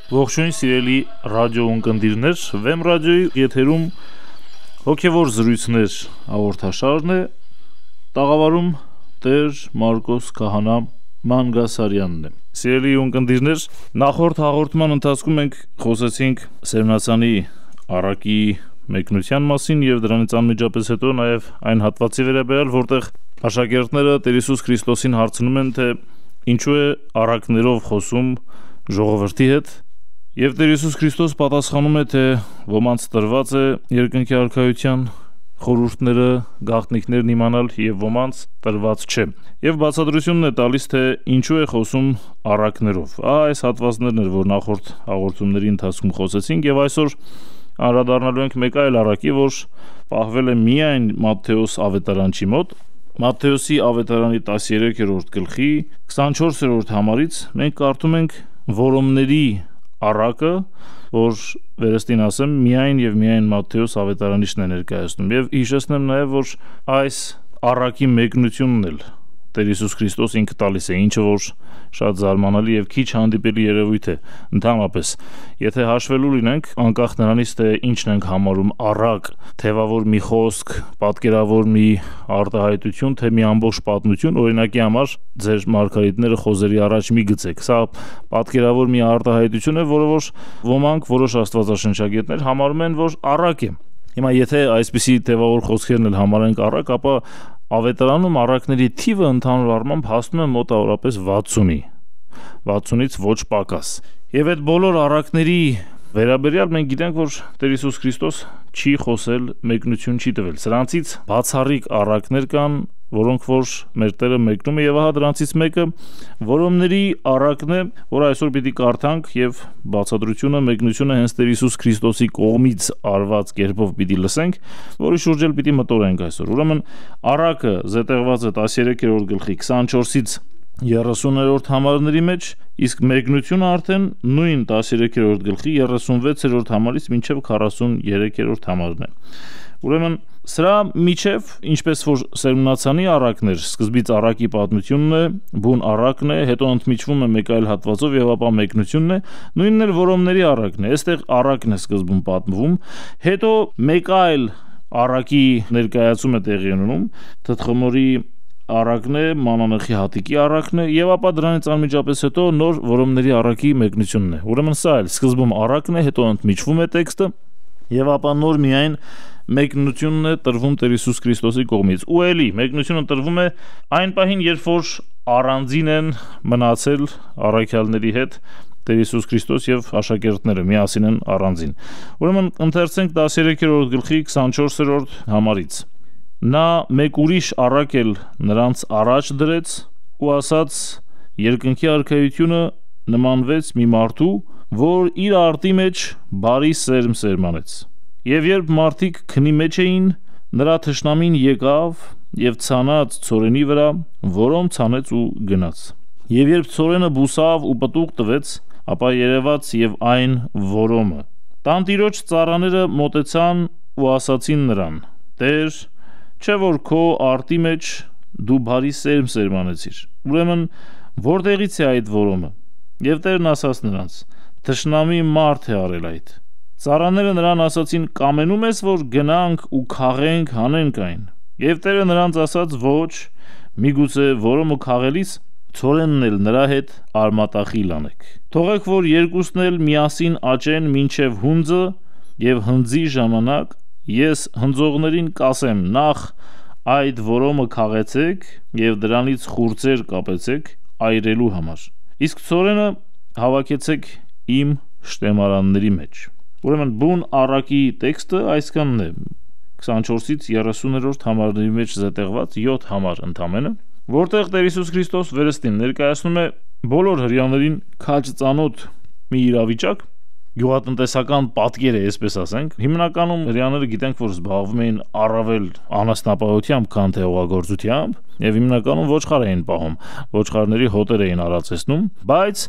Ողջույն սիրելի ռադիո ունկնդիրներ, Վեմ ռադիոյի եթերում հոգևոր զրույցներ հաղորդաշարն է, տաղավարում Տեր Մարկոս Քահանա Մանգասարյանն է։ Սիրելի ունկնդիրներ, նախորդ հաղորդման ընթացքում մենք խոսեցինք Սերմնացանի առակի մեկնության մասին եւ դրանից անմիջապես հետո նաեւ այն հատվածի վերաբերյալ, որտեղ աշակերտները Տեր Հիսուս Քրիստոսին հարցնում են, թե ինչու է առակներով խոսում ժողովրդի հետ, եւ Տեր Հիսուս Քրիստոս պատասխանում է, թե ոմանց տրված է երկնքի արքայության խորհուրդները, գաղտնիքներն իմանալ եւ ոմանց տրված չէ։ Եվ բացատրությունն է տալիս, թե ինչու է խոսում առակներով։ Այս հատվածներն էր, որ նախորդ հաղորդումների ընթացքում խոսեցինք, եւ այսօր անդրադառնալու ենք մեկ այլ առակի, որ պահվել է միայն Մատթեոս ավետարանչի մոտ։ Մատթեոսի ավետարանի 13-րդ գլխի 24-րդ համարից մենք կարդում ենք որոմների առակը, որ վերստին ասեմ միայն եւ միայն Մատթեոս ավետարանիչն է ներկայացնում, եւ հիշեցնեմ նաեւ, որ այս առակի մեկնությունն էլ Տեր Հիսուս Քրիստոս ինքը տալիս է, ինչը որ շատ զարմանալի եւ քիչ հանդիպելի երևույթ է ընդհանրապես։ Եթե հաշվելու լինենք, անկախ նրանից, թե ինչն ենք համարում առակ, թեվավոր մի խոսք, պատկերավոր մի արտահայտություն, թե մի ամբողջ պատմություն, օրինակի համար ձեր մարգարիտները խոզերի առաջ մի գցեք։ Սա պատկերավոր մի արտահայտություն է, որը որ ոմանք որոշ աստվածաշնչագետներ համարում են, որ առակ է։ Հիմա եթե այսպիսի թեվավոր խոսքերն էլ համարենք առակ, ապա ավետարանում առակների թիվը ընդհանուր առմամբ հասնում է մոտավորապես 60-ից ոչ պակաս։ Եվ այդ բոլոր առակների վերաբերյալ մենք գիտենք, որ Տեր Հիսուս Քրիստոս չի խոսել, մեկնություն չի տվել։ Սրանցից բացառիկ առակներ կան, որոնք որ մեր Տերը մեկնում է, եւ ահա դրանցից մեկը որոմների առակն է, որ այսօր պիտի կարդանք, եւ բացատրությունը, մեկնությունը հենց Տեր Հիսուս Քրիստոսի կողմից արված կերպով պիտի լսենք, որի շուրջ էլ պիտի մտորենք այսօր։ Ուրեմն առակը զետեղված է 13-րդ գլխի 24-ից 30-րդ համարների մեջ, իսկ մեկնությունը արդեն նույն 13-րդ գլխի 36-րդ համարից մինչև 43-րդ համարն է։ Ուրեմն սրա միջև, ինչպես որ Սերմնացանի առակներ, սկզբից առակի պատմությունն է, բուն առակն է, հետո ընդմիջվում է մեկ այլ հատվածով եւ ապա մեկնությունն է, նույնն էլ որոմների առակն է։ Այստեղ առակն է սկզբում պատմվում, հետո մեկ այլ առակի ներկայացում է տեղի ունենում, թթխմորի առակն է, մանանեխի հատիկի առակն է, եւ ապա դրանից անմիջապես հետո նոր որոմների առակի մեկնությունն է։ Ուրեմն սա էլ սկզբում առակն է, հետո ընդմիջվում է տեքստը, եւ ապա նոր միայն մեկնությունն է տրվում Տեր Հիսուս Քրիստոսի կողմից։ Ու էլի մեկնությունը տրվում է այն պահին, երբ որ առանձին են մնացել առաքյալների հետ Տեր Հիսուս Քրիստոս եւ աշակերտները միասին են առանձին։ Ուրեմն ընթերցենք 13-րդ գլխի 24-րդ համարից։ Նա մեկ ուրիշ առակ էլ նրանց առաջ դրեց ու ասաց. երկնքի արքայությունը նմանվեց մի մարդու, որ իր արտի մեջ բարի սերմ սերմանեց։ Եվ երբ մարդիկ քնի մեջ էին, նրա թշնամին եկավ եւ ցանած ցորենի վրա, որոմ ցանեց ու գնաց։ Եվ երբ ցորենը բուսավ ու պտուղ տվեց, ապա երևաց եւ այն որոմը։ Տանտիրոջ ծառաները մոտեցան ու ասացին նրան. Տեր, չէ որ քո արտի մեջ դու բարի սերմ սերմանեցիր։ Ուրեմն որտեղից է այդ որոմը։ Եվ Տերն ասաց նրանց. Թշնամի մարդ է արել այդ։ Ծառաները նրան ասացին. կամենում ես, որ գնանք ու քաղենք, հանենք այն։ Եվ Տերը նրանց ասաց. ոչ, միգուցե որոմը քաղելիս ցորենն էլ նրա հետ արմատախիլ անեք։ Թողեք, որ երկուսն էլ միասին աճեն մինչև հունձը, եւ հնձի ժամանակ ես հնձողներին կասեմ. նախ այդ որոմը քաղեցեք եւ դրանից խուրձեր կապեցեք այրելու համար, իսկ ցորենը հավաքեցեք իմ շտեմարանների մեջ։ Ուրեմն բուն առակի տեքստը այսքանն է, 24-ից 30-րդ համարների մեջ զետեղված 7 համար ընդամենը, որտեղ Տեր Հիսուս Քրիստոս վերստին ներկայացնում է բոլոր հրեաներին քաջ ծանոթ մի իրավիճակ, գյուղատնտեսական պատկեր է, այսպես ասենք։ Հիմնականում հրեաները գիտենք, որ զբաղվում էին առավել անասնապահությամբ, քան թե հողագործությամբ, եւ հիմնականում ոչխար էին պահում, ոչխարների հոտեր էին արածեցնում, բայց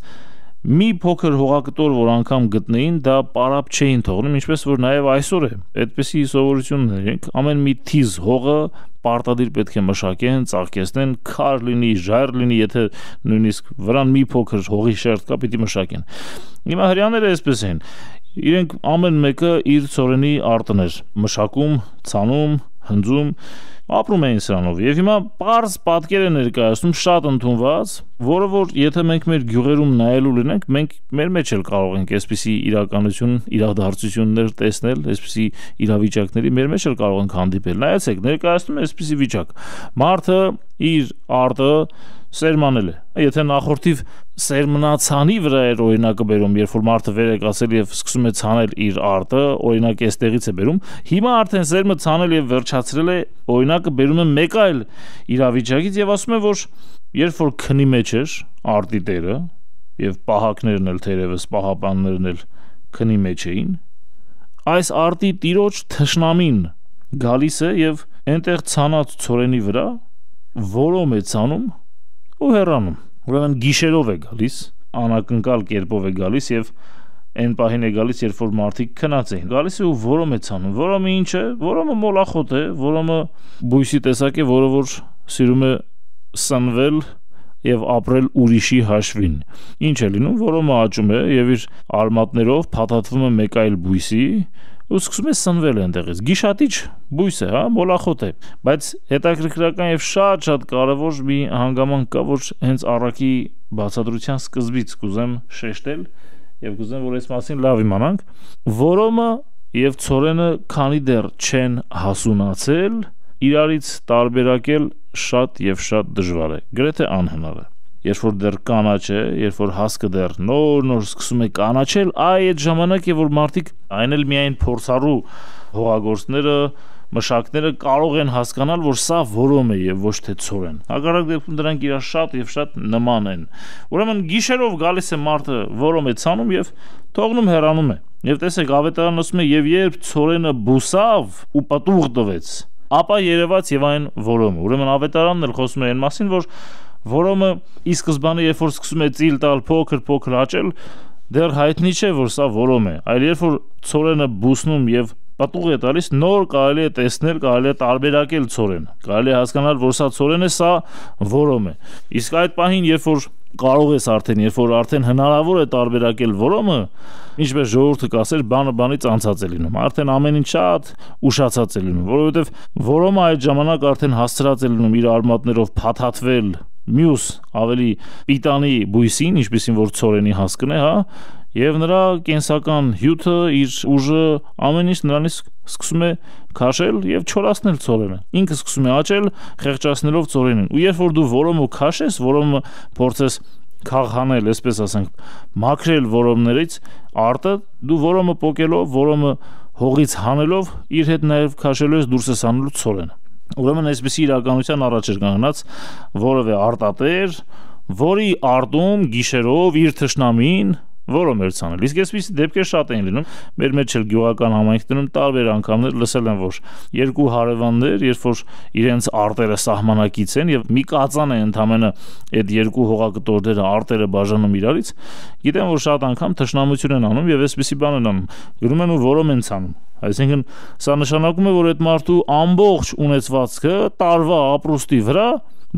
մի փոքր հողակտոր, որ անգամ գտնեին, դա պարապ չէին թողնում, ինչպես որ նաև այսօր է։ Այդպիսի սովորություններ են։ Ամեն մի թիզ հողը պարտադիր պետք է մշակեն, ծաղկեցնեն, քար լինի, ժայռ լինի, եթե նույնիսկ վրան մի փոքր հողի շերտ կա, պիտի մշակեն։ Հիմա հрьяաները այսպես են։ Իրենք ամեն մեկը իր ծորենի արտն էր մշակում, ցանում, հնձում, ապրում էին սրանով։ Եվ հիմա պարզ պատկեր է ներկայացնում շատ ընդունված, որը որ եթե մենք մեր գյուղերում նայելու լինենք, մենք մեր մեջ էլ կարող ենք այսպիսի իրականություն, իրադարձություններ տեսնել, այսպիսի իրավիճակների մեր մեջ էլ կարող ենք հանդիպել։ Նայեցեք, ներկայացնում է այսպիսի վիճակ։ Մարդը իր արտը սերմանել է։ Եթե նախորդիվ սերմնացանի վրա էր օրինակը բերում, երբ որ մարդը վեր է կացել եւ սկսում է ցանել իր արտը, օրինակ էստեղից է բերում, հիմա արդեն սերմը ցանել եւ վերջացրել է, օրինակը բերում է մեկ այլ իրավիճակից եւ ասում է, որ երբ որ քնի մեջ էր արտի տերը եւ պահակներն էլ թերևս պահապաններն էլ քնի մեջ էին, այս արտի տիրոջ թշնամին գալիս է եւ այնտեղ ցանած ծորենի վրա որոմ է ցանում ու հեռանում։ Ուրեմն գիշերով է գալիս, անակնկալ կերպով է գալիս եւ այն պահին է գալիս, երբ որ մարդիկ քնած էին։ Գալիս է ու որոմ է ցանում։ Որոմը ինչ է? Որոմը մոլախոտ է, որոմը բույսի տեսակ է, որը որ սիրում է սնվել եւ ապրել ուրիշի հաշվին։ Ինչ է լինում? Որոմը աճում է եւ իր արմատներով փաթաթվում է մեկ այլ բույսի ու սկսում է սնվել այնտեղից։ Գիշատիչ բույս է, հա, մոլախոտ է։ Բայց հետաքրքրական եւ շատ կարեւոր մի հանգամանք կա, որ հենց առակի բացատրության սկզբից կուզեմ շեշտել եւ կուզեմ, որ այս մասին լավ իմանանք։ Որոմը եւ ցորենը քանի դեռ չեն հասունացել, իրարից տարբերակել շատ եւ շատ դժվար է, գրեթե անհնար է։ Երբ որ դեռ կանաչ է, երբ որ հասկը դեռ նոր սկսում է կանաչել, այդ ժամանակ է, որ մարդիկ այն էլ միայն փորձառու հողագործները, մշակները կարող են հասկանալ, որ սա որոմ է եւ ոչ թե ցորեն։ Հակառակ դեպքում դրանք իրար շատ եւ շատ նման են։ Ուրեմն գիշերով գալիս է մարդը, որոմ է ցանում եւ թողնում հեռանում է։ Եվ տեսեք, ավետարանն ասում է, եւ երբ ցորենը բուսավ ու պատուղ տվեց, ապա երևաց եւ այն որոմը։ Ուրեմն ավետարանն էլ խոսում է այն մասին, որ որոմը ի սկզբանե երբ որ սկսում է ծիլ տալ փոքր աճել, դեռ հայտնի չէ, որ սա որոմ է, այլ երբ որ ցորենը բուսնում եւ պատուղ է տալիս, նոր կարելի է տեսնել, կարելի է տարբերակել ցորենը, կարելի է հասկանալ, որ սա ցորեն է, սա որոմ է։ Իսկ այդ պահին, երբ որ կարող ես արդեն, երբ որ արդեն հնարավոր է տարբերակել որոմը, ինչպես ժողովուրդը կասեր, բանը բանից անցած է լինում, արդեն ամեն ինչ շատ ուշացած է լինում, որովհետեւ որոմը այդ ժամանակ արդեն հասցրած է լինում իր արմատներով փաթաթվել մյուս ավելի պիտանի բույսին, ինչպեսին որ ցորենի հասկն է, հա, եւ նրա կենսական հյութը, իր ուժը, ամեն ինչ նրանից սկսում է քաշել եւ չորացնել ցորենը։ Ինքը սկսում է աճել, խեղճացնելով ցորենին։ Ու երբ որ դու որոմը քաշես, որոմը փորձես քաղանել, այսպես ասենք, մաքրել որոմներից արտը, դու որոմը պոկելով, որոմը հողից հանելով, իր հետ նաեւ քաշելու ես դուրս ես անելու ցորենը։ Ուրեմն այսպիսի իրականության առաջ էր կանգնած որևէ արտատեր, որի արտում գիշերով իր թշնամին որոմ էր ցանել։ Իսկ այսպիսի դեպքեր շատ են լինում։ Մեր մեջ էլ գյուղական համայնքներում տարբեր անգամներ լսել են, որ երկու հարևաններ, երբ որ իրենց արտերը սահմանակից են եւ մի կածան է ընդամենը այդ երկու հողակտորները արտերը բաժանում իրարից, գիտեն, որ շատ անգամ թշնամություն են անում եւ այսպիսի բան են անում։ Գրում են ու որոմ են ցանում։ Այսինքն սա նշանակում է, որ այդ մարդու ամբողջ ունեցվածքը տարվա ապրուստի վրա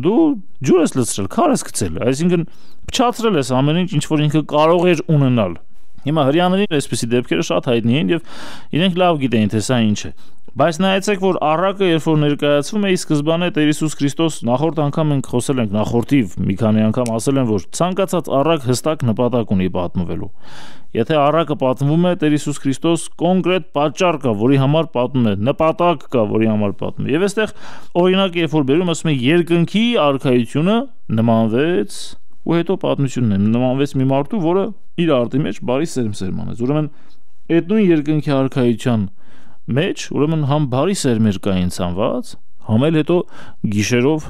դու ջուր ես լցրել, քար ես գցել, այսինքն փչացրել ես ամեն ինչ որ ինքը կարող էր ունենալ։ Հիմա հрьяաներին այսպիսի դեպքերը շատ հայտնի են եւ իրենք լավ գիտեն, թե սա ինչ է։ Բայց նայեցեք, որ առակը, երբ որ ներկայացվում է, ի սկզբանե Տեր Հիսուս Քրիստոս նախորդ անգամ ենք խոսել ենք, նախորդիվ մի քանի անգամ ասել են, որ ցանկացած առակ հստակ նպատակ ունի պատմվելու։ Եթե առակը պատմվում է, Տեր Հիսուս Քրիստոս կոնկրետ պատճառ կա, որի համար պատմում է, նպատակ կա, որի համար պատմում է։ Եվ այստեղ օրինակ երբ որ բերում ասում է երկնքի արքայությունը նմանվեց, ու հետո պատմությունն է, նմանվեց մի մարդու, որը իր արտի մեջ բարի սերմ սերմանեց։ Ուրեմն այդ նույն երկնքի արքայության մեջ, ուրեմն համ բարի սերմեր կային ցանված, համ էլ հետո գիշերով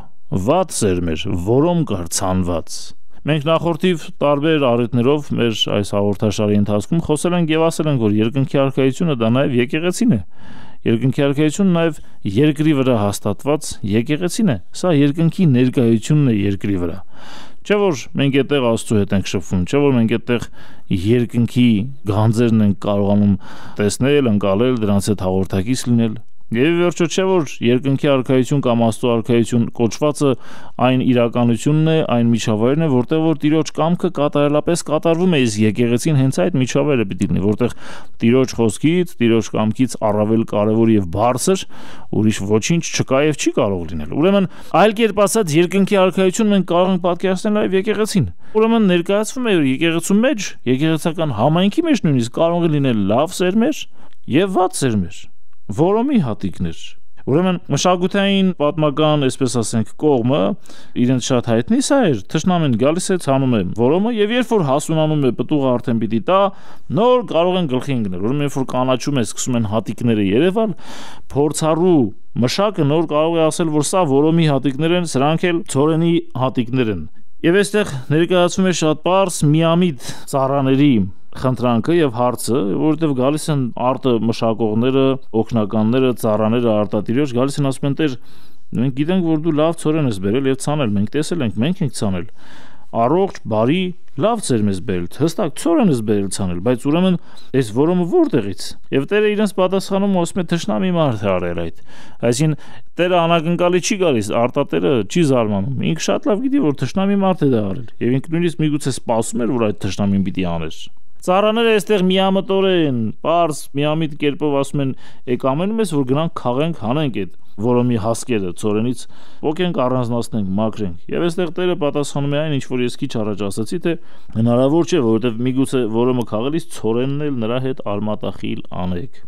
վատ սերմեր, որոմ կար ցանված։ Մենք նախորդիվ տարբեր առիթներով մեր այս հաղորդաշարի ընթացքում խոսել ենք եւ ասել ենք, որ երկնքի արքայությունը դա նաեւ եկեղեցին է։ Երկնքի արքայությունը նաեւ երկրի վրա հաստատված եկեղեցին է։ Սա երկնքի ներկայությունն է երկրի վրա։ Չէ որ մենք այդտեղ Աստծո հետ ենք շփվում, չէ որ մենք այդտեղ երկնքի գանձերն ենք կարողանում տեսնել, ընկալել, դրանց հետ հաղորդակից լինել։ Եվ վերջո չէ որ երկնքի արքայություն կամ Աստծո արքայություն կոչվածը այն իրականությունն է, այն միջավայրն է, որտեղ որ Տիրոջ կամքը կատարելապես կատարվում է, իսկ եկեղեցին հենց այդ միջավայրը պիտի լինի, որտեղ Տիրոջ խոսքից, Տիրոջ կամքից առավել կարևոր եւ բարձր ուրիշ ոչինչ չկա եւ չի կարող լինել։ Ուրեմն այլ կերպ ասած երկնքի արքայություն մենք կարող ենք պատկերացնել այլ եկեղեցին։ Ուրեմն ներկայացվում է եկեղեցու մեջ, եկեղեցական համայնքի մեջ նույնիսկ կարող է լինել լավ սերմեր եւ վատ սերմեր, որոմի հատիկներ։ Ուրեմն մշակութային պատմական, այսպես ասենք, կողմը իրենց շատ հայտնի սա էր, թշնամին գալիս է ցանում է որոմը եւ երբ որ հասունանում է պտուղը արդեն պիտի տա, նոր կարող են գլխի ընկնել։ Ուրեմն երբ որ կանաչում է, սկսում են հատիկները երևալ, փորձառու մշակը նոր կարող է ասել, որ սա որոմի հատիկներ են, սրանք էլ ցորենի հատիկներ են։ Եվ այստեղ ներկայացվում է շատ པարզ միամիտ ծառաների խնդրանքը եւ հարցը, որովհետեւ գալիս են արտը մշակողները, օգնականները, ծառաները արտատիրոջ գալիս են ասում են Տեր, մենք գիտենք որ դու լավ ցորեն ես բերել եւ ցանել, մենք տեսել ենք, մենք ենք ցանել, առողջ, բարի, լավ ծերմ ես բերել, հստակ ցորեն ես բերել ցանել, բայց ուրեմն այս որոմը որտեղից։ Եվ Տերը իրենց պատասխանում ասում է թշնամի մարդ է արել այդ։ Այսինքն Տերը անակնկալի չի գալիս, արտատերը չի զարմանում։ Ինքը շատ լավ գիտի որ թշնամի մարդ է դա արել եւ ինքը նույնիսկ միգուցե սպասում էր որ այդ թշնամին պիտի աներ։ Ծառաները այստեղ միամտորեն, պարզ, միամիտ կերպով ասում են, եք ամենում ես, որ գնանք քաղենք, հանենք այդ որոմի հասկերը ցորենից, ոգենք առանձնացնենք, մաքրենք։ Եվ այստեղ Տերը պատասխանում է այն, ինչ որ ես քիչ առաջ ասացի, թե հնարավոր չէ, որովհետև միգուցե որոմը քաղելիս ցորենն էլ նրա հետ արմատախիլ անեք։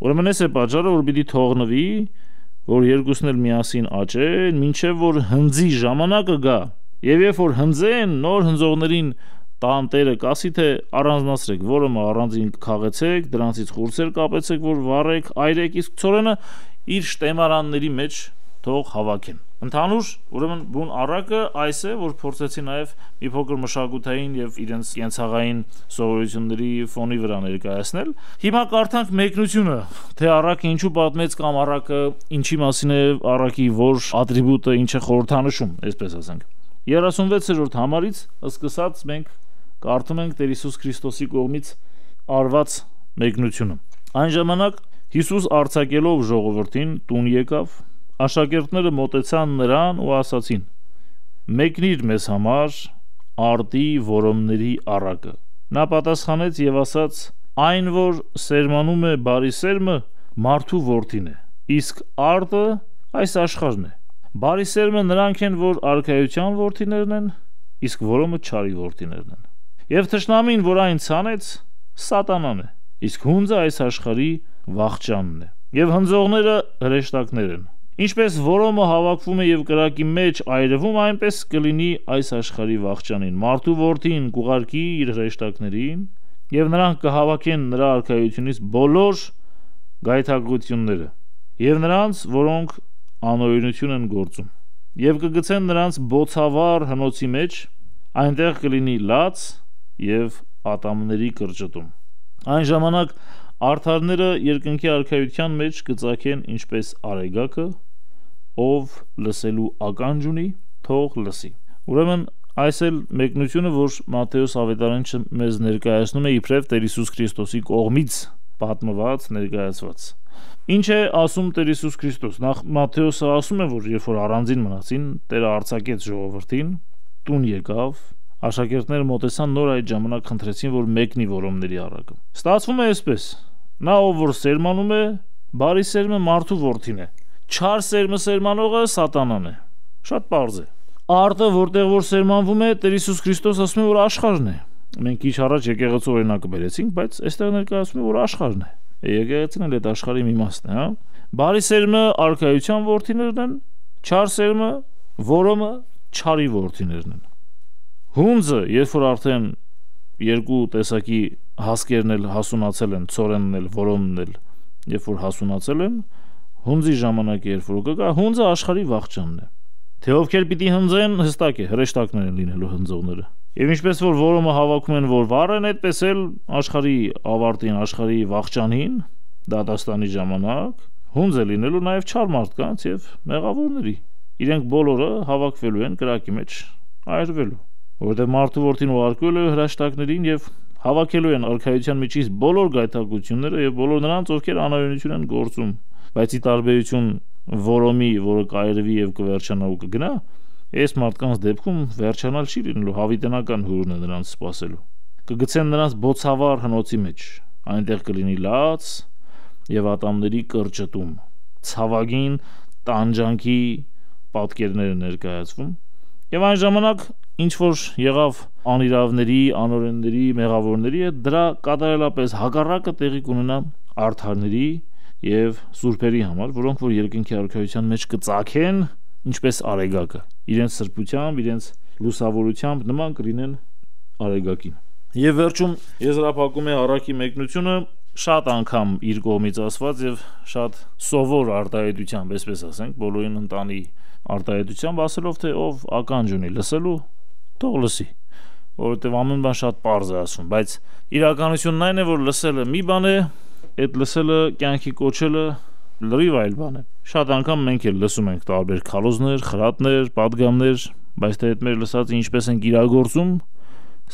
Ուրեմն այս է պատճառը, որ պիտի թողնվի, որ երկուսն էլ միասին աճեն, մինչև որ հնձի ժամանակը գա։ Եվ երբ որ հնձեն, նոր հնձողներին տան Տերը կասի թե առանձնացրեք, որոմը առանձին քաղեցեք, դրանցից խուրձեր կապեցեք, որ վառեք, այրեք, իսկ ցորենը իր շտեմարանների մեջ թող հավաքեն։ Ընդհանուր, ուրեմն բուն առակը այս է, որ փորձեցի նաև մի փոքր մշակութային եւ իրենց կենցաղային սովորությունների ֆոնի վրա ներկայացնել։ Հիմա կարդանք մեկնությունը, թե առակը ինչու պատմեց կամ առակը ինչի մասին է, առակի որ ատրիբուտը ինչ է խորհրդանշում, այսպես ասենք։ 36-րդ համարից սկսած մենք կարդում ենք Տեր Հիսուս Քրիստոսի կողմից արված մեկնությունը։ Այն ժամանակ Հիսուս արձակելով ժողովրդին տուն եկավ, աշակերտները մոտեցան նրան ու ասացին. «Մեկնիր մեզ համար արտի որոմների առակը»։ Նա պատասխանեց եւ ասաց. «Այն, որ սերմանում է բարի սերմը, մարդու որդին է, իսկ արտը այս աշխարհն է։ Բարի սերմը նրանք են, որ արքայության որդիներն են, իսկ որոմը չարի որդիներն են։ Եվ թշնամին, որ այն ցանեց, սատանան է, իսկ հունձը այս աշխարհի վախճանն է։ Եվ հնձողները հրեշտակներ են։ Ինչպես որոմը հավաքվում է եւ կրակի մեջ այրվում, այնպես կլինի այս աշխարհի վախճանին։ Մարդու որդին կուղարկի իր հրեշտակներին, եւ նրանք կհավաքեն նրա արքայությունից բոլոր գայթակղությունները, եւ նրանց, որոնք անօրինություն են գործում, եւ կգցեն նրանց բոցավառ հնոցի մեջ, այնտեղ կլինի լաց եւ ատամների կրճտում։ Այն ժամանակ արդարները երկնքի արքայության մեջ կծակեն ինչպես արեգակը, ով լսելու ականջ ունի, թող լսի։ Ուրեմն այս էլ մեկնությունը, որ Մատթեոս ավետարանիչը մեզ ներկայացնում է իբրև Տեր Հիսուս Քրիստոսի կողմից պատմված, ներկայացված։ Ինչ է ասում Տեր Հիսուս Քրիստոս։ Նախ Մատթեոսը ասում է, որ երբ որ առանձին մնացին, Տերը արձակեց ժողովրդին, տուն եկավ, աշակերտները մոտեցան, նոր այդ ժամանակ խնդրեցին, որ մեկնի որոմների առակը։ Ստացվում է այսպես. նա ով որ սերմանում է, բարի սերմը մարդու որդին է, չար սերմը սերմանողը սատանան է։ Շատ պարզ է։ Արտը, որտեղ որ սերմանվում է, Տեր Հիսուս Քրիստոս ասում է, որ աշխարհն է։ Մենք ինչ առաջ եկեղեցու օրինակը բերեցինք, բայց այստեղ ներկայացնում է, որ աշխարհն է։ Եկեղեցին էլ այդ աշխարհի մի մասն է, հա։ Բարի սերմը արքայության որդիներն են, չար սերմը որոմը չարի որդիներն են։ Հունձը, երբ որ արդեն երկու տեսակի հասկերն էլ հասունացել են, ցորենն էլ, որոմն էլ, երբ որ հասունացել են, հունձի ժամանակը երբ որ կգա, հունձը աշխարհի վախճանն է։ Թե ովքեր պիտի հնձեն, հստակ է, հրեշտակներ են լինելու հնձողները։ Եվ ինչպես որ որոմը հավաքում են, որ վառեն, այդպես էլ աշխարհի ավարտին, աշխարհի վախճանին, դատաստանի ժամանակ, հունձ է լինելու նաև չար մարդկանց եւ մեղավորների։ Իրենք բոլորը հավաքվելու են կրակի մեջ այրվելու։ որովհետև մարդու որդին ուղարկվել է հրաշտակներին եւ հավաքելու են արքայության միջից բոլոր գայթակղությունները եւ բոլոր նրանց, ովքեր անօրենություն են գործում, բայց ի տարբերություն որոմի, որը կայրվի եւ կվերջանա ու կգնա, այս մարդկանց դեպքում վերջանալ չի լինելու, հավիտենական հուրն է նրանց սպասելու։ Կգցեն նրանց բոցավառ հնոցի մեջ, այնտեղ կլինի լաց եւ ատամների կրճտում, ցավագին տանջանքի պատկերները ներկայացվում, եւ այն ժամանակ ինչ որ եղավ անիրավների, անօրենների, մեղավորների հետ, դրա կատարելապես հակառակը տեղի կունենա արդարների եւ սուրբերի համար, որոնք որ երկնքի արքայության մեջ կծագեն ինչպես արեգակը, իրենց սրբությամբ, իրենց լուսավորությամբ նման կլինեն արեգակին։ Եվ վերջում եզրափակում է առակի մեկնությունը շատ անգամ իր կողմից ասված եւ շատ սովոր արտահայտությամբ, այսպես ասենք, բոլորին ընտանի արտահայտությամբ ասելով, թե ով ականջ ունի լսելու, թող լսի, որովհետեւ ամեն բան շատ պարզ է ասում, բայց իրականությունն այն է, որ լսելը մի բան է, այդ լսելը կյանքի կոչելը լրիվ այլ բան է։ Շատ անգամ մենք էլ լսում ենք տարբեր քարոզներ, խրատներ, պատգամներ, բայց թե այդ մեր լսածը ինչպես են իրագործում,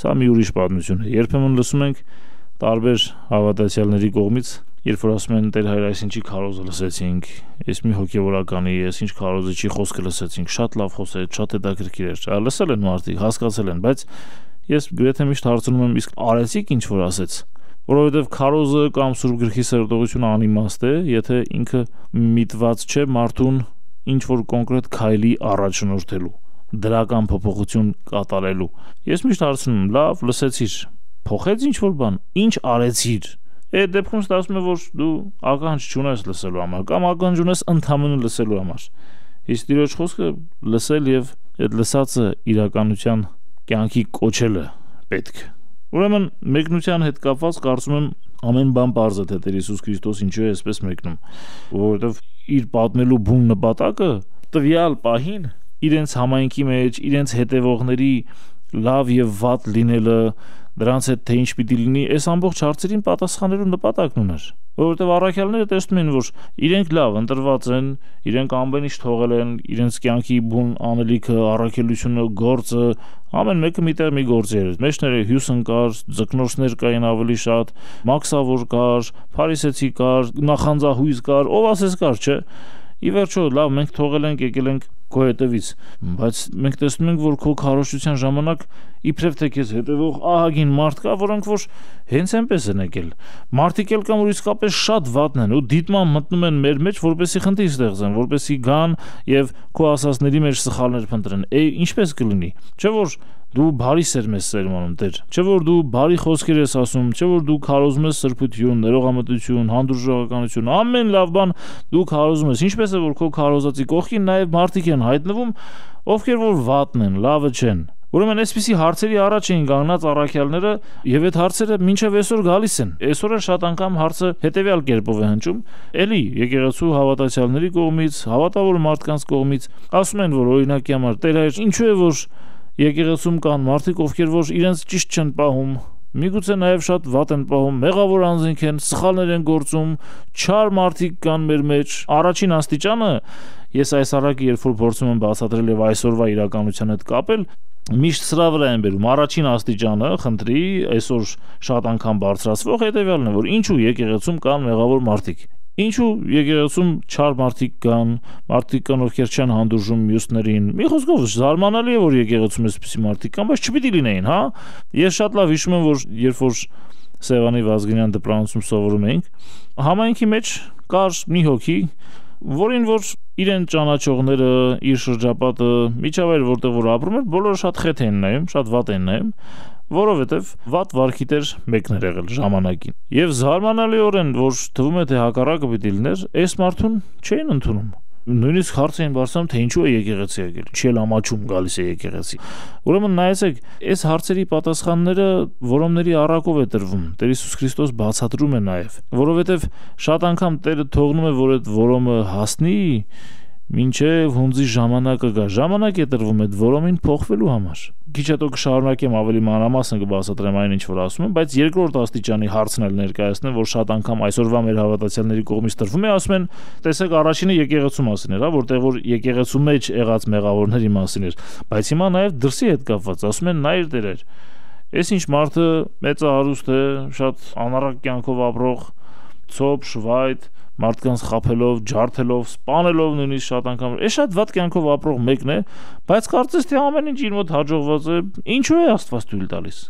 սա մի ուրիշ պատմություն է։ Երբեմն լսում ենք տարբեր հավատացյալների կողմից, երբ որ ասում են Տեր Հայր, այսինչի քարոզը լսեցինք, այս մի հոգևորականի, այսինչ քարոզը չի խոսքը լսեցինք, շատ լավ խոսեց, շատ հետաքրքիր էր։ Լսել են մարդիկ, հասկացել են, բայց ես գրեթե միշտ հարցնում եմ, իսկ արեցիք ինչ որ ասեց, որովհետև քարոզը կամ Սուրբ Գրքի սերտողությունը անիմաստ է, եթե ինքը միտված չէ մարդուն ինչ որ կոնկրետ քայլի առաջնորդելու, դրական փոփոխություն կատարելու։ Ես միշտ հարցնում եմ, լավ, լսեցիր, փոխեց ինչ որ բան, ինչ արեցիր։ Այդ դեպքում ստացվում է, որ դու ականջ չունես լսելու համար, կամ ականջ ունես ընդհանրապես լսելու համար։ Իսկ Տիրոջ խոսքը լսել եւ այդ լսածը իրականության կյանքի կոչելը պետք։ Ուրեմն մեկնության հետ կապված կարծում եմ ամեն բան պարզ է, թե Տեր Հիսուս Քրիստոս ինչու է այսպես մեկնում, որովհետև իր պատմելու բուն նպատակը տվյալ պահին իրենց համայնքի մեջ, իրենց հետևողների լավ եւ վատ լինելը, դրանց հետ թե ինչ պիտի լինի, այս ամբողջ հարցերին պատասխանելու նպատակն ուներ, որովհետև առաքյալները տեսնում են, որ իրենք լավ ընտրված են, իրենք ամեն ինչ թողել են, իրենց կյանքի բուն անելիքը, առաքելությունը, գործը, ամեն մեկը միտեղ մի գործ էր։ Մեջները հյուսն կար, ձկնորսներ կային ավելի շատ, մաքսավոր կար, փարիսեցի կար, նախանձահույս կար, ով ասես կար, չէ։ Ի վերջո, լավ, մենք թողել ենք, եկել ենք քո հետևից, բայց մենք տեսնում ենք, որ քո քարոզչության ժամանակ իբրև թե քեզ հետևող ահագին մարդ կա, որոնք որ հենց այնպես են եկել։ Մարդիկ էլ կան, որ իսկապես շատ վատն են ու դիտման մտնում են մեր մեջ, որպեսզի խնդիր ստեղծեն, որպեսզի գան եւ քո ասածների մեջ սխալներ փնտրեն։ Ինչպես կլինի։ Չէ՞ որ դու բարի սերմ ես սերմանում, Տեր, չէ՞ որ դու բարի խոսքեր ես ասում, չէ՞ որ դու քարոզում ես սրբություն, ներողամտություն, հանդուրժողականություն, ամեն լավ բան դու քարոզում ես։ Ինչպես է որ քո քարոզածի կողքին նաեւ մարդիկ են հայտնվում, ովքեր որ վատն են, լավը չեն։ Ուրեմն այսպիսի հարցերի առաջ էին կանգնած առաքյալները եւ այդ հարցերը մինչեւ այսօր գալիս են։ Այսօր էլ շատ անգամ հարցը հետեւյալ կերպով է հնչում. էլի եկեղեցու հավատացյալների կողմից, հավատավոր մարդկանց կողմից ասում են, որ օրինակի համար Տեր Հայր, ինչու է որ եկեղեցում կան մարդիկ, ովքեր որ իրենց ճիշտ չեն պահում, միգուցե նաև շատ վատ են պահում, մեղավոր անձինք են, սխալներ են գործում, չար մարդիկ կան մեր մեջ։ Առաջին աստիճանը ես այս առակը երբ որ փորձում եմ բացատրել եւ այսօրվա իրականության հետ կապել, միշտ սրա վրա են բերում։ Առաջին աստիճանը, խնդրի, այսօր շատ անգամ բարձրացվող հետեւյալն է, որ ինչու եկեղեցում կան մեղավոր մարդիկ։ Ինչու եկեղեցում չար մարդիկ կան, ովքեր չեն հանդուրժում մյուսներին։ Մի խոսքով զարմանալի է, որ եկեղեցում այսպիսի մարդիկ կան, բայց չպիտի լինեին, հա։ Ես շատ լավ հիշում եմ, որ երբ որ Սևանի Վազգենյան դպրոցում սովորում էինք, համայնքի մեջ կար մի հոգի, որին որ իրեն ճանաչողները, իր շրջապատը, միջավայրը որտեղ որ ապրում էր, բոլորը շատ խեթ էին նայում, շատ վատ էին նայում, որովհետև վատ վարքի տեր մեկն էր եղել ժամանակին։ Եվ զարմանալիորեն, որ թվում է թե հակառակը պիտի լիներ, այս մարդուն չէին ընդունում։ Նույնիսկ հարց էին բարձրանում, թե ինչու է եկեղեցի եկել, չի էլ ամաչում գալիս է եկեղեցի։ Ուրեմն նայեցեք, այս հարցերի պատասխանները որոմների առակով է տրվում։ Տեր Հիսուս Քրիստոս բացատրում է նաև, որովհետև շատ անգամ Տերը թողնում է, որ այդ որոմը հասնի, մինչև հունձի ժամանակը գա։ Ժամանակ է տրվում այդ որոմին փոխվելու համար։ քիչ հետո կշարունակեմ ավելի մանրամասն կբացատրեմ այն ինչ որ ասում եմ, բայց երկրորդ աստիճանի հարցն էլ ներկայացնեմ, որ շատ անգամ այսօրվա մեր հավատացյալների կողմից տրվում է, ասում են, տեսեք առաջինը եկեղեցու մասին էր, որտեղ որ եկեղեցու մեջ եղած մեղավորների մասին էր, բայց հիմա նաև դրսի հետ կապված, ասում են նայր դերեր։ Այս ինչ մարդը մեծահարուստ է, շատ անառակ կյանքով ապրող, ցոփ, շվայտ, մարդկանց խափելով, ջարդելով, սպանելով նույնիսկ շատ անգամ։ Է շատ վատ կյանքով ապրող մեկն է, բայց կարծես թե ամեն ինչ իր մոտ հաջողված է։ Ինչու է Աստված թույլ տալիս։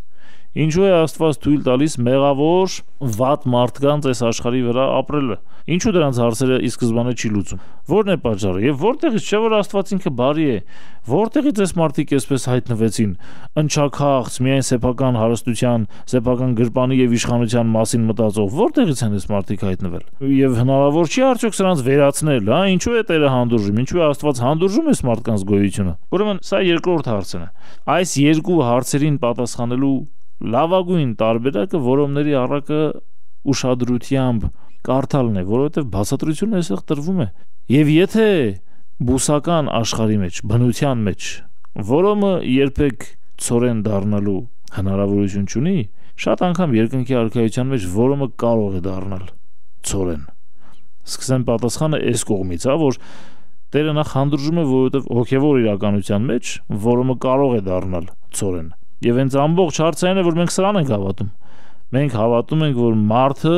Ինչու է Աստված թույլ տալիս մեղավոր վատ մարդկանց այս աշխարհի վրա ապրելը։ Ինչու դրանց հարցերը ի սկզբանե չի լուծում։ Որն է պատճառը եւ որտեղից չէ որ Աստված ինքը բարի է։ Որտեղից այս մարդիկ այսպես հայտնվեցին։ Ընչաքաղց, միայն սեփական հարստության, սեփական գրպանի եւ իշխանության մասին մտածող։ Որտեղից են այս մարդիկ հայտնվել։ Եվ հնարավոր չի արդյոք սրանց վերացնել, հա, ինչու է Տերը հանդուրժում, ինչու է Աստված հանդուրժում այս մարդկանց գոյությունը։ Ուրեմն սա երկրորդ հարցն է։ Այս երկու հարցերին պատասխանելու լավագույն տարբերակը որոմների առակը ուշադրությամբ կարդալն է, որովհետև բացատրությունը այստեղ տրվում է։ Եվ եթե բուսական աշխարհի մեջ, բնության մեջ որոմը երբեք ցորեն դառնալու հնարավորություն չունի, շատ անգամ երկնքի արքայության մեջ որոմը կարող է դառնալ ցորեն։ Սկսեմ պատասխանը այս կողմից, հա, որ Տերը նախ հանդուրժում է, որովհետև հոգևոր իրականության մեջ որոմը կարող է դառնալ ցորեն։ Եվ հենց ամբողջ հարցը այն է, որ մենք սրան ենք հավատում։ Մենք հավատում ենք, որ մարդը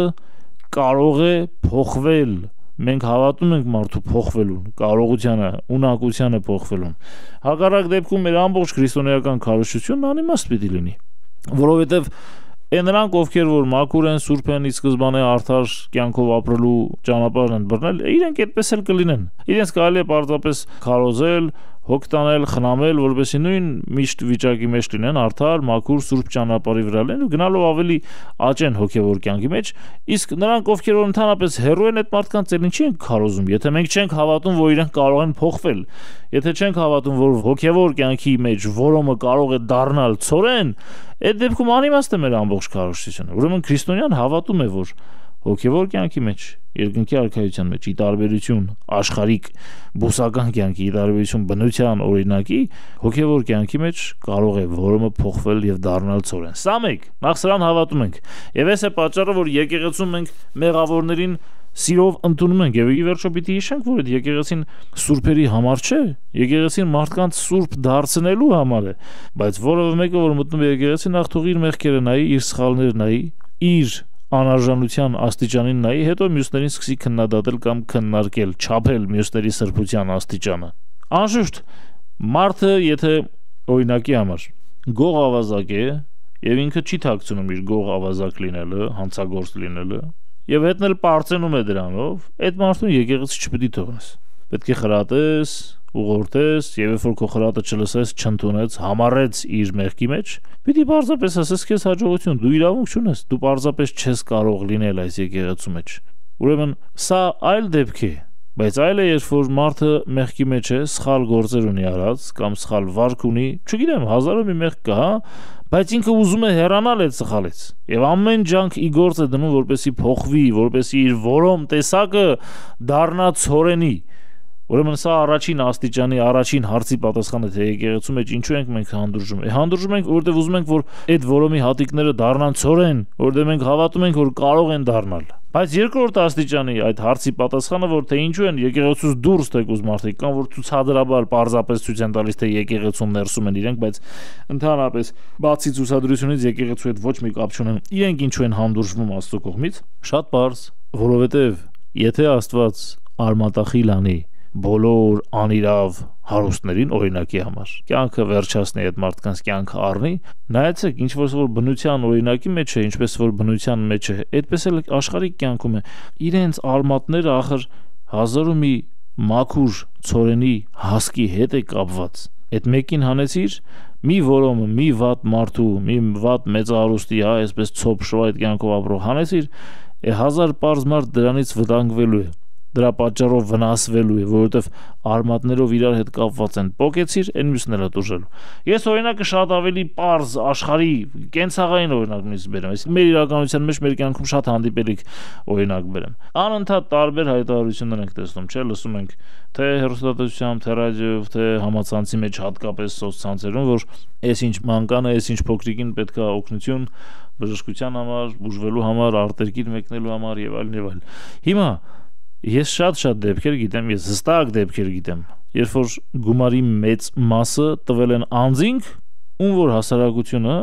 կարող է փոխվել։ Մենք հավատում ենք մարդու փոխվելուն, կարողությանը, ունակությանը փոխվելուն։ Հակառակ դեպքում մեր ամբողջ քրիստոնեական քարոզչությունն անիմաստ պիտի լինի, որովհետև նրանք, ովքեր որ մաքուր են, սուրբ են, ի սկզբանե արդար կյանքով ապրելու ճանապարհն են բռնել, իրենք այդպես էլ կլինեն։ Իրենց կարելի է պարզապես քարոզել, հոգ տանել, խնամել, որովհետեւ նույն միշտ վիճակի մեջ լինեն, արդար, մաքուր, սուրբ ճանապարհի վրա լինեն ու գնալով ավելի աճեն հոգևոր կյանքի մեջ, իսկ նրանք, ովքեր որ ընդհանրապես հեռու են այդ մարդկանց, էլ ինչի են քարոզում, եթե մենք չենք հավատում, որ իրենք կարող են փոխվել, եթե չենք հավատում, որ հոգևոր կյանքի մեջ որոմը կարող է դառնալ ցորեն, այդ դեպքում անիմաստ է մեր ամբողջ քարոզչությունը։ Ուրեմն քրիստոնյան հավատում է, որ հոգևոր կյանքի մեջ, երկնքի արքայության մեջ, ի տարբերություն աշխարհիկ բուսական կյանքի, ի տարբերություն բնության օրինակի, հոգևոր կյանքի մեջ կարող է որոմը փոխվել եւ դառնալ ցորեն։ Սա մեկ, նախ սրան հավատում ենք։ Եվ այս է պատճառը, որ եկեղեցում մենք մեղավորներին սիրով ընդունում ենք եւ ի վերջո պիտի հիշենք, որ այդ եկեղեցին սուրբերի համար չէ, եկեղեցին մարդկանց սուրբ դարձնելու համար է, բայց որևէ մեկը որ մտնում է եկեղեցի, նախ թող իր մեղքերը նայի, իր սխալները նայի, իր անարժանության աստիճանին նայի, հետո մյուսներին սկսի քննադատել կամ քննարկել, չափել մյուսների սրբության աստիճանը։ Անշուշտ մարդը, եթե օրինակի համար գող ավազակ է եւ ինքը չի թաքցնում իր գող ավազակ լինելը, հանցագործ լինելը, եւ հետն էլ պարծենում է դրանով, այդ մարդուն եկեղեցի չպետք է թողնես։ Պետք է խրատես, ուղղորդես, եւ երբ որ քո խրատը չլսես, չընդունեց, համառեց իր մեղքի մեջ, պիտի պարզապես ասես քեզ հաջողություն, դու իրավունք չունես, դու պարզապես չես կարող լինել այս եկեղեցու մեջ։ Ուրեմն սա այլ դեպք է, բայց այլ է, երբ որ մարդը մեղքի մեջ է, սխալ գործեր ունի արած կամ սխալ վարք ունի, չգիտեմ, հազարով մի մեղք կա, բայց ինքը ուզում է հեռանալ այդ սխալից եւ ամեն ջանք ի գործ է դնում, որպեսի փոխվի, որպեսի իր որոմ տեսակը դառնա ցորենի։ Ուրեմն սա առաջին աստիճանի առաջին հարցի պատասխանը թե եկեղեցու մեջ ինչու ենք մենք հանդուրժում։ Հանդուրժում ենք, որովհետև ուզում ենք, որ այդ որոմի հատիկները դառնան ցորեն, որովհետև մենք հավատում ենք, որ կարող են դառնալ։ Բայց երկրորդ աստիճանի այդ հարցի պատասխանը, որ թե ինչու են եկեղեցուց դուրս թեկուզ մարդիկ կան, որ ցուցադրաբար պարզապես ցույց են տալիս, թե եկեղեցուն ներսում են իրենք, բայց ընդհանրապես բացի ցուցադրությունից եկեղեցու հետ ոչ մի կապ չունեն։ Իրենք ինչու են հանդուրժվում Աստծո կողմից։ Շատ պարզ, որովհետև եթե Աստված արմատախիլ անի բոլոր անիրավ հարուստներին օրինակի համար կյանքը վերջացնի, այդ մարդկանց կյանքը առնի, նայեցեք ինչ որ բնության օրինակի մեջ է, ինչպես որ բնության մեջ է, այդպես էլ աշխարհիկ կյանքում է, իրենց արմատները ախր հազար ու մի մաքուր ցորենի հասկի հետ է կապված։ Այդ մեկին հանեցիր, մի որոմը, մի վատ մարդու, մի վատ մեծահարուստի, հա, այսպես ցոփ շվայտ կյանքով ապրող հանեցիր, հազար պարզ մարդ դրանից վտանգվելու է։ դրա պատճառով վնասվելու է, որովհետև արմատներով իրար հետ կապված են, պոկեցիր, այն մյուսները տուժելու։ Ես օրինակը շատ ավելի պարզ աշխարհի կենցաղային օրինակ նույնիսկ բերեմ, այսինքն մեր իրականության մեջ մեր կյանքում շատ հանդիպելիք օրինակ բերեմ։ Անընդհատ տարբեր հայտարարություններ ենք տեսնում, չէ՞, լսում ենք թե հեռուստատեսությամբ, թե ռադիոյով, թե համացանցի մեջ, հատկապես սոցցանցերում, որ այսինչ մանկանը, այսինչ փոքրիկին պետք է օգնություն բժշկության համար, բուժվելու համար, արտերկիր մեկնելու համար եւ այլն եւ այլն։ Հիմա ես շատ դեպքեր գիտեմ, ես հստակ դեպքեր գիտեմ, երբ որ գումարի մեծ մասը տվել են անձինք, ում որ հասարակությունը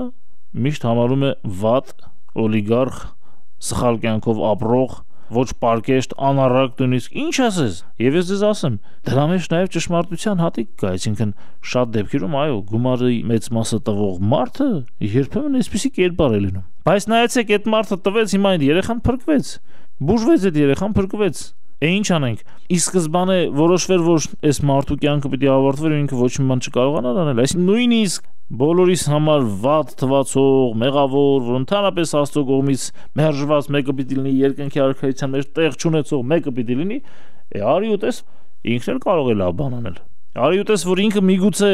միշտ համարում է վատ, օլիգարխ, սխալ կյանքով ապրող, ոչ պարկեշտ, անառակ նույնիսկ, ինչ ասես։ Եվ ես ձեզ ասեմ, դրա մեջ նաև ճշմարտության հատիկ կա, այսինքն շատ դեպքերում այո, գումարի մեծ մասը տվող մարդը երբեմն այսպիսի կերպար է լինում։ Բայց նայեցեք, այդ մարդը տվեց, հիմա այդ երեխան փրկվեց, բուժվեց այդ երեխան փրկվեց։ Ինչ անենք։ Ի սկզբանե որոշվեր, որ այս մարդու կյանքը պիտի ավարտվեր, ինքը ոչ մի բան չկարողանար անել, այսինքն նույնիսկ բոլորիս համար վատ թվացող, մեղավոր, որ ընդհանրապես Աստծո կողմից մերժված մեկը պիտի լինի, երկնքի արքայության մեջ տեղ չունեցող մեկը պիտի լինի, արի ու տես, ինքն էլ կարող է լավ բան անել։ Արի ու տես, որ ինքը միգուցե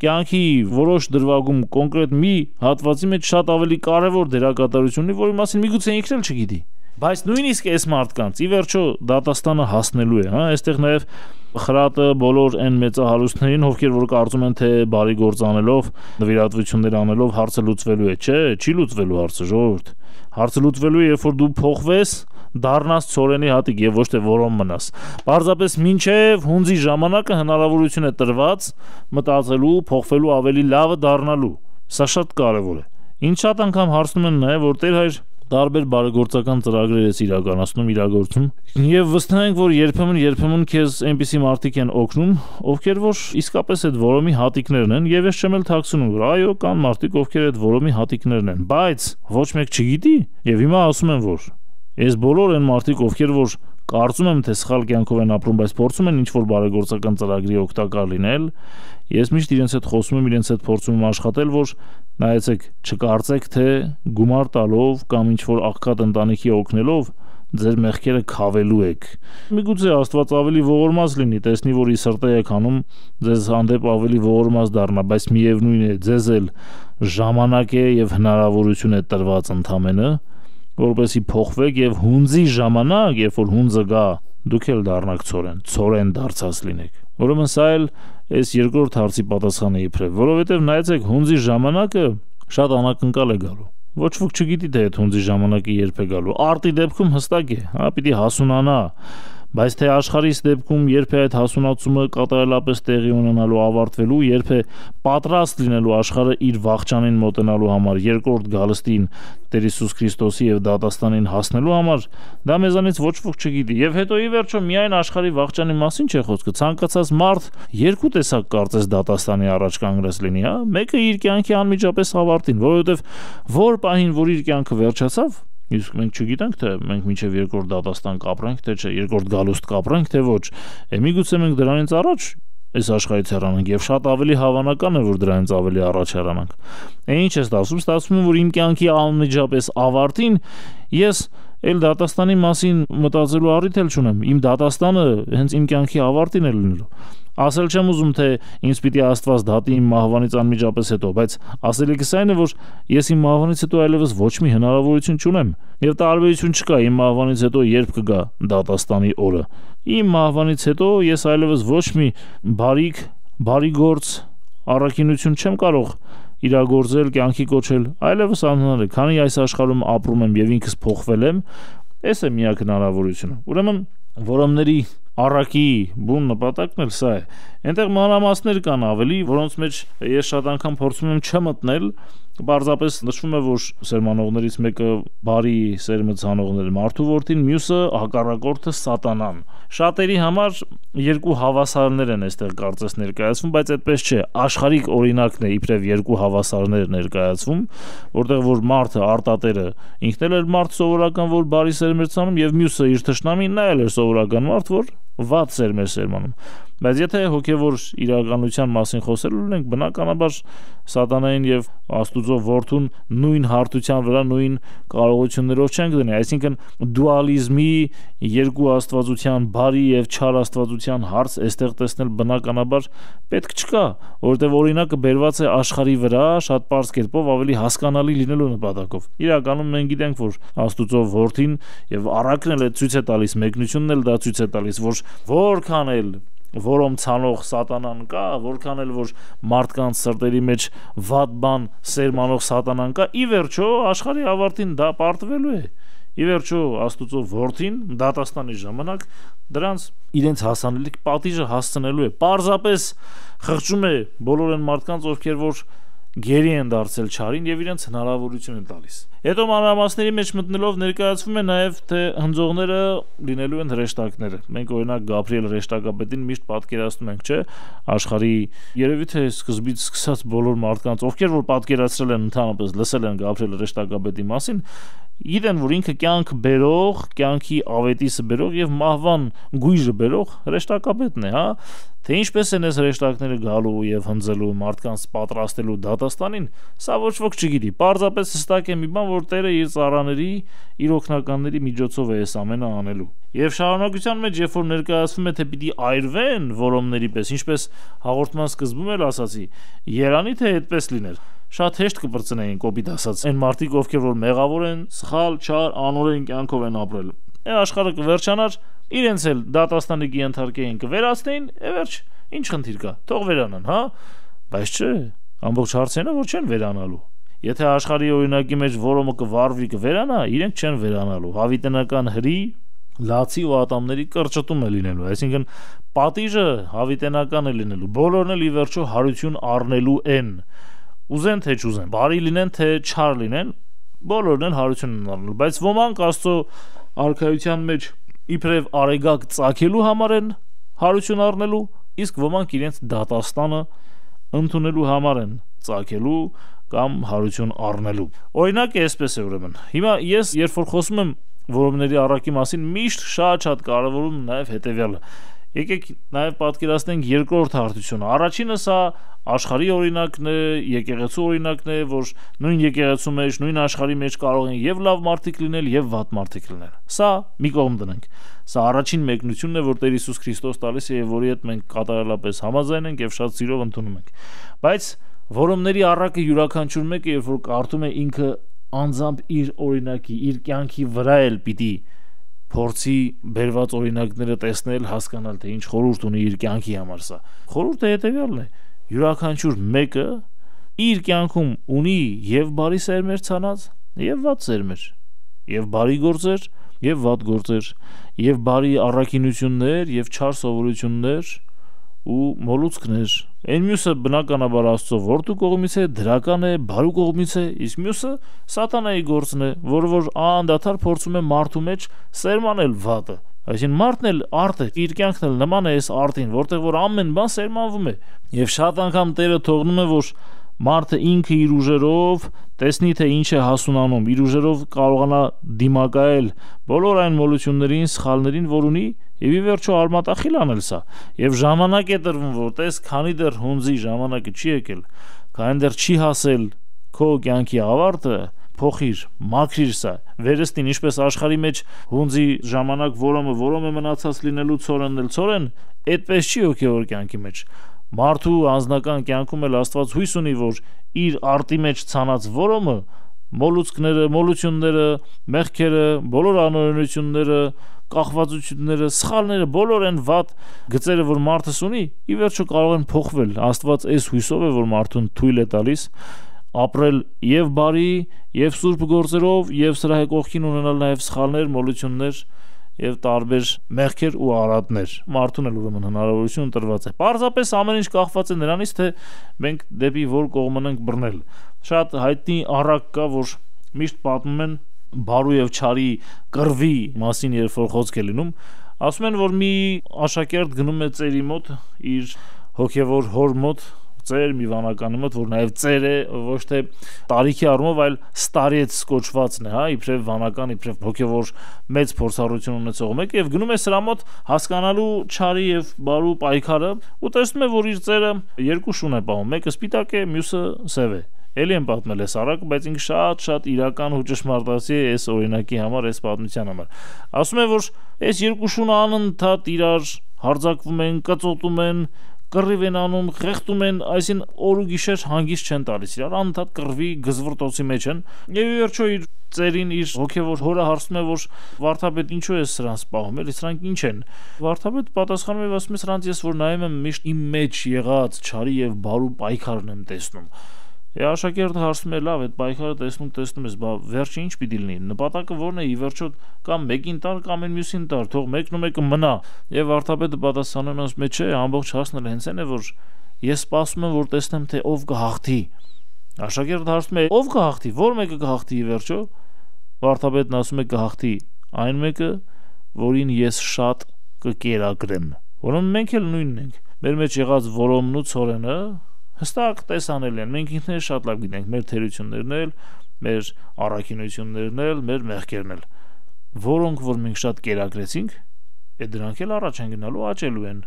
կյանքի որոշ դրվագում կոնկրետ մի հատվածի մեջ շատ ավելի կարևոր դերակատարություն ունի, որի մասին միգուցե ինքն էլ չգիտի։ Բայց նույնիսկ այս մարդկանց ի վերջո դատաստանը հասնելու է, հա, այստեղ նաև խրատը բոլոր այն մեծահարուստներին, ովքեր որ կարծում են, թե բարի գործ անելով, նվիրատվություններ անելով հարցը լուծվելու է, չէ, չի լուծվելու հարցը, ժողովուրդ։ Հարցը լուծվելու է, երբ որ դու փոխվես, դառնաս ցորենի հատիկ եւ ոչ թե որոն մնաս։ Պարզապես մինչեւ հունձի ժամանակը հնարավորություն է տրված մտածելու, փոխվելու, ավելի լավը դառնալու։ Սա շատ կարեւոր է։ Ինչ շատ անգամ հարցնում են նաեւ, որ Տեր հայր տարբեր բարեգործական ծրագրեր ես իրականացնում, իրագործում եւ վստահ ենք, որ երբեմն քեզ այնպիսի մարդիկ են օգնում, ովքեր որ իսկապես այդ որոմի հատիկներն են եւ ես չեմ էլ թաքցնում, որ այո, կան մարդիկ, ովքեր այդ որոմի հատիկներն են, բայց ոչ մեկ չգիտի եւ հիմա ասում են, որ այս բոլոր այն մարդիկ, ովքեր որ կարծում եմ, թե սխալ կյանքով են ապրում, բայց փորձում են ինչ-որ բարեգործական ծրագրի օգտակար լինել, ես միշտ իրենց հետ խոսում եմ, իրենց հետ փորձում եմ աշխատել, որ նայեցեք, չկարծեք, թե գումար տալով կամ ինչ-որ աղքատ ընտանիքի օգնելով ձեր մեղքերը քավելու եք։ Միգուցե Աստված ավելի ողորմած լինի, տեսնի, որ ի սրտե եք անում, ձեզ հանդեպ ավելի ողորմած դառնա, բայց միևնույն է, ձեզ էլ ժամանակ է եւ հնարավորություն է տրված ընդամենը, որպեսի փոխվեք եւ հունձի ժամանակ, երբ որ հունձը գա, դուք էլ դառնաք ցորեն դարձած լինեք։ Ուրեմն սա էլ այս երկրորդ հարցի պատասխանը իբրև, որովհետեւ նայեցեք, հունձի ժամանակը շատ անակնկալ է գալու։ Ոչ ոք չգիտի, թե այդ հունձի ժամանակը երբ է գալու։ Արտի դեպքում հստակ է, հա, պիտի հասունանա, բայց թե աշխարհիս դեպքում երբ է այդ հասունացումը կատարելապես տեղի ունենալու, ավարտվելու, երբ է պատրաստ լինելու աշխարհը իր վախճանին մոտենալու համար, երկրորդ գալստին Տեր Հիսուս Քրիստոսի եւ դատաստանին հասնելու համար, դա մեզանից ոչ ոք չգիտի։ Եվ հետո ի վերջո միայն աշխարհի վախճանի մասին չէ խոսքը, ցանկացած մարդ երկու տեսակ կարծես դատաստանի առաջ կանգնած լինի, հա, մեկը իր կյանքի անմիջապես ավարտին, որովհետեւ որ պահին, որ իր կյանքը վերջացավ, իսկ մենք չգիտենք, թե մենք մինչև երկրորդ դատաստան կապրենք, թե չէ, երկրորդ գալուստ կապրենք, թե ոչ։ Միգուցե մենք դրանից առաջ այս աշխարհից հեռանանք եւ շատ ավելի հավանական է, որ դրանից ավելի առաջ հեռանանք։ Ինչ է ստացվում, ստացվում է, որ իմ կյանքի անմիջապես ավարտին ես էլ դատաստանի մասին մտածելու առիթ էլ չունեմ։ Իմ դատաստանը հենց իմ կյանքի ավարտին է լինելու։ Ասել չեմ ուզում, թե ինձ պիտի Աստված դատի իմ մահվանից անմիջապես հետո, բայց ասելիքս այն է, որ ես իմ մահվանից հետո այլևս ոչ մի հնարավորություն չունեմ, եւ տարբերություն չկա իմ մահվանից հետո երբ կգա դատաստանի օրը։ Իմ մահվանից հետո ես այլևս ոչ մի բարի գործ, առաքինություն չեմ կարող իրագործել, կյանքի կոչել, այլևս անհնար է, քանի այս աշխարհում ապրում եմ եւ ինքս փոխվել եմ, այս է միակ հնարավորությունը։ Ուրեմն որոմների առակի բուն նպատակն էլ սա է։ Այնտեղ մանրամասներ կան ավելի, որոնց մեջ ես շատ անգամ փորձում եմ չմտնել, պարզապես նշվում է, որ սերմանողներից մեկը բարի սերմը ցանողներ մարդու որդին, մյուսը հակառակորդը սատանան։ Շատերի համար երկու հավասարներ են այստեղ կարծես ներկայացվում, բայց այդպես չէ, աշխարհիկ օրինակն է իբրև երկու հավասարներ ներկայացվում, որտեղ որ մարդը արտատերը ինքն էլ էր մարդ սովորական, որ բարի սերմ էր ցանում, եւ մյուսը իր թշնամին նա էլ էր սովորական մարդ, որ վատ սերմ էր սերմանում։ Բայց եթե հոգևոր իրականության մասին խոսելու ենք, բնականաբար սատանային եւ Աստուծո որդուն նույն հարթության վրա, նույն կարողություններով չենք դնի, այսինքն դուալիզմի երկու աստվածության, բարի եւ չար աստվածության հարց այստեղ տեսնել բնականաբար պետք չկա, որովհետեւ օրինակը բերված է աշխարհի վրա շատ པարզ կերպով ավելի հասկանալի լինելու նպատակով։ Իրականում մենք գիտենք, որ Աստուծո որդին եւ առակն էլ ցույց է տալիս, մեկնությունն էլ դա ցույց է տալիս, որ որքան էլ որում ցանող սատանան կա, որքան էլ որ մարդկանց սրտերի մեջ վատ բան սերմանող սատանան կա, ի վերջո աշխարհի ավարտին դա պարտվելու է։ Ի վերջո Աստուծո որդին դատաստանի ժամանակ դրանց իրենց հասանելիք պատիժը հասցնելու է։ Պարզապես խղճում է բոլոր այն մարդկանց, ովքեր որ գերի են դարձել չարին եւ իրենց հնարավորություն են տալիս։ Հետո մանրամասների մեջ մտնելով ներկայացվում է նաեւ թե հնձողները լինելու են հրեշտակները։ Մենք օրինակ Գաբրիել հրեշտակապետին միշտ պատկերացնում ենք, չէ՞, աշխարհի երևի թե սկզբից սկսած բոլոր մարդկանց, ովքեր որ պատկերացրել են ընդհանրապես լսել են Գաբրիել հրեշտակապետի մասին, գիտեն, որ ինքը կյանք բերող, կյանքի ավետիսը բերող եւ մահվան գույժը բերող հրեշտակապետն է, հա։ Թե ինչպես են այս հրեշտակները գալու եւ հնձելու մարդկանց պատրաստելու դատաստանին, սա ոչ ոք չգիտի։ Պարզապես հստակ է մի բան, որ Տերը իր ծառաների, իր օգնականների միջոցով է այս ամենը անելու։ Եվ շարունակության մեջ, երբ որ ներկայացվում է, թե պիտի այրվեն որոմների պես, ինչպես հաղորդման սկզբում էլ ասացի, երանի թե այդպես լիներ։ Շատ հեշտ կպրծնեին կոպիտ ասած այն մարդիկ, ովքեր որ մեղավոր են, սխալ, չար, անօրեն կյանքով են ապրել։ Այս աշխարհը կվերջանար, իրենց էլ դատաստանի կընթարկեին կվերացնեին, վերջ, ինչ խնդիր կա, թող վերանան, հա։ Բայց չէ, ամբողջ հարցն է, որ չեն վերանալու։ Եթե աշխարհի օրինակի մեջ որոմը կվարվի կվերանա, իրենք չեն վերանալու։ Հավիտենական հրի, լացի ու ատամների կրճտում է լինելու, այսինքն պատիժը հավիտենական է լինելու։ Բոլորն էլ ի վերջո հարություն առնելու են։ Ուզեն թե չուզեն, բարի լինեն թե չար լինեն, բոլորն են հարություն առնելու, բայց ոմանք Աստծո արքայության մեջ իբրև արեգակ ծագելու համար են հարություն առնելու, իսկ ոմանք իրենց դատաստանը ընդունելու համար են ծագելու կամ հարություն առնելու։ Օրինակ էսպես է ուրեմն։ Հիմա ես երբ որ խոսում եմ որոմների առակի մասին, միշտ շատ կարևորում նաև հետևյալը։ Եկեք նաև պատկերացնենք երկրորդ հարթությունը։ Առաջինը սա աշխարհի օրինակն է, եկեղեցու օրինակն է, որ նույն եկեղեցու մեջ, նույն աշխարհի մեջ կարող են եւ լավ մարդիկ լինել, եւ վատ մարդիկ լինել։ Սա մի կողմ դնենք։ Սա առաջին մեկնությունն է, որ Տեր Հիսուս Քրիստոս տալիս է եւ որի հետ մենք կատարելապես համաձայն ենք եւ շատ սիրով ընդունում ենք։ Բայց որոմների առակը յուրաքանչյուր մեկը, երբ որ կարդում է, ինքը անձամբ իր օրինակի, իր կյանքի վրա էլ պիտի փորձի բերված օրինակները տեսնել, հասկանալ, թե ինչ խորհուրդ ունի իր կյանքի համար սա։ Խորհուրդը հետևյալն է. յուրաքանչյուր մեկը իր կյանքում ունի եւ բարի սերմեր ցանած, եւ վատ սերմեր, եւ բարի գործեր, եւ վատ գործեր, եւ բարի առաքինություններ, եւ չար սովորություններ ու մոլուցքներ։ Այն մյուսը բնականաբար Աստծո որդու կողմից է, դրական է, բարու կողմից է, իսկ մյուսը սատանայի գործն է, որը անդադար փորձում է մարդու մեջ սերմանել վատը։ Այսինքն մարդն էլ արդ է, իր կյանքն էլ նման է այս արդին, որտեղ որ ամեն բան սերմանվում է։ Եվ շատ անգամ Տերը թողնում է, որ մարդը ինքը իր ուժերով տեսնի, թե ինչ է հասունանում, իր ուժերով կարողանա դիմակայել բոլոր այն մոլություններին, սխալներին, որ ունի, եւ ի վերջո արմատախիլ անել սա։ Եվ ժամանակ է տրվում, որտես քանի դեռ հունձի ժամանակը չի եկել, քանի դեռ չի հասել քո կյանքի ավարտը, փոխիր, մաքրիր սա։ Վերստին ինչպես աշխարհի մեջ հունձի ժամանակ որոմը մնացած լինելու ցորեն, այդպես չի հոգևոր կյանքի մեջ։ Մարդու անձնական կյանքում էլ Աստված հույս ունի, որ իր արտի մեջ ցանած որոմը, մոլուցքները, մոլությունները, մեղքերը, բոլոր անօրենությունները, կախվածությունները, սխալները, բոլոր այն վատ գծերը, որ մարդս ունի, ի վերջո կարող են փոխվել։ Աստված այս հույսով է, որ մարդուն թույլ է տալիս ապրել եւ բարի, եւ սուրբ գործերով, եւ սրա կողքին ունենալ նաեւ սխալներ, մոլություններ եւ տարբեր մեղքեր ու արատներ։ Մարդուն էլ ուրեմն հնարավորություն տրված է։ Պարզապես ամեն ինչ կախված է նրանից, թե մենք դեպի որ կողմն ենք բռնել։ Շատ հայտնի առակ կա, որ միշտ պատմում են բարու եւ չարի կռվի մասին, երբ որ խոսք է լինում, ասում են, որ մի աշակերտ գնում է ծերի մոտ, իր հոգևոր հոր մոտ, ծեր մի վանականի մոտ, որ նաև ծեր է, ոչ թե տարիքի առումով, այլ ստարիեց կոչվածն է, հա, իբրև վանական, իբրև հոգևոր մեծ փորձառություն ունեցող մեկը եւ գնում է սրա մոտ հասկանալու չարի եւ բարու պայքարը ու տեսնում է, որ իր ծերը երկու շուն է պահում, մեկը սպիտակ է, մյուսը սև է։ Էլի եմ պատմել է Սարակը, բայց ինքը շատ իրական ու ճշմարտացի է այս օրինակի համար, այս պատմության համար։ Ասում է, որ այս երկու շունը անընդհատ իրար հարձակվում են, կծոտում են, կռիվ են անում, խեղդում են, այսին օր ու գիշեր հանգիստ չեն տալիս իրար, անընդհատ կռվի գզվռտոցի մեջ են։ Եվ ի վերջո իր ծերին իր հոգևոր հորը հարցնում է, որ վարդապետ ինչու է սրանց պահում, էլի սրանք ինչ են։ Վարդապետը պատասխանում է, ասում է, սրանց ես որ նայում եմ միշտ իմ մեջ եղած չարի եւ բարու պայքարն եմ տեսնում։ Աշակերտը հարցնում է, լավ, այդ պայքարը տեսնում ես, բա վերջը ինչ պիտի լինի։ Նպատակը ո՞րն է, ի վերջո կամ մեկին տար, կամ այն մյուսին տար, թող մեկն ու մեկը մնա։ Եվ վարդապետը պատասխանում է, ասում է, չէ, ամբողջ հասն էլ հենց այն է, որ ես սպասում եմ, որ տեսնեմ, թե ով կհաղթի։ Աշակերտը հարցնում է, ով կհաղթի, ո՞ր մեկը կհաղթի ի վերջո։ Վարդապետն ասում է, կհաղթի այն մեկը, որին ես շատ կկերակրեմ։ Որոնց մենք էլ նույնն ենք։ Մեր մեջ եղած որոմն ու ցորենը հստակ տեսանել են, մենք ինքներս շատ լավ գիտենք մեր թերություններն էլ, մեր առաքինություններն էլ, մեր մեղքերն էլ, որոնք որ մենք շատ կերակրեցինք, դրանք էլ առաջ են գնալու, աճելու են։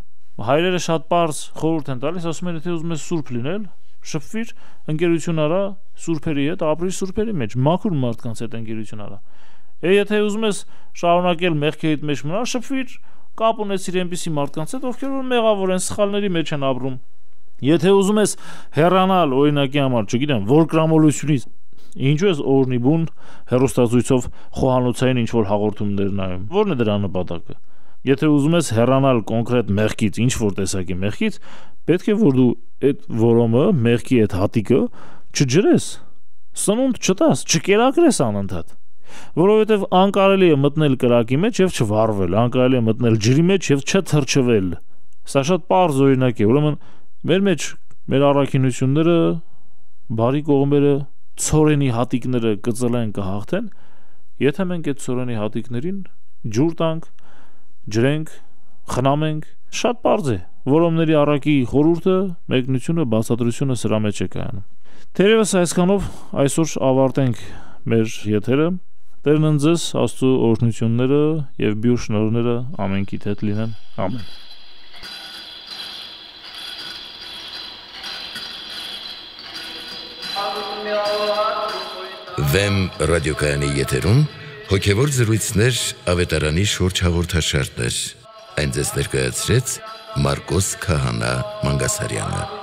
Հայրերը շատ պարզ խորհուրդ են տալիս, ասում են, եթե ուզում ես սուրբ լինել, շփվիր, ընկերություն արա սուրբերի հետ, ապրիր սուրբերի մեջ, մաքուր մարդկանց հետ ընկերություն արա։ Եթե ուզում ես շարունակել մեղքերիդ մեջ մնալ, շփվիր, կապ ունեցիր այնպիսի մարդկանց հետ, ովքեր որ մեղավոր են, սխալների մեջ են ապրում։ Եթե ուզում ես հեռանալ օրինակի համար, չգիտեմ, որկրամոլությունից, ինչու ես օրնի բուն հեռուստացույցով խոհանոցային ինչ-որ հաղորդումներ նայում, ո՞րն է դրա նպատակը։ Եթե ուզում ես հեռանալ կոնկրետ մեղքից, ինչ-որ տեսակի մեղքից, պետք է որ դու այդ որոմը, մեղքի այդ հատիկը չջրես, սնունդ չտաս, չկերակրես անընդհատ, որովհետև անկարելի է մտնել կրակի մեջ եւ չվառվել, անկարելի է մտնել ջրի մեջ եւ չթրջվել։ Սա շատ պարզ օրինակ է, ուրեմն մեր մեջ մեր առաքինությունները, բարի կողմերը, ցորենի հատիկները կծլեն կհաղթեն, եթե մենք այդ ցորենի հատիկներին ջուր տանք, ջրենք, խնամենք, շատ պարզ է, որոմների առակի խորհուրդը, մեկնությունը, բացատրությունը սրա մեջ է կայանում։ Թերևս այսքանով այսօր ավարտենք մեր եթերը։ Տերն ընձեզ Աստծո օրհնությունները եւ բյուր շնորհները ամենքիդ հետ լինեն։ Ամեն։ Վեմ ռադիոկայանի եթերում հոգևոր զրույցներ ավետարանի շուրջ հաղորդաշարներ։ Այն ձեզ ներկայացրեց Մարկոս Քահանա Մանգասարյանը։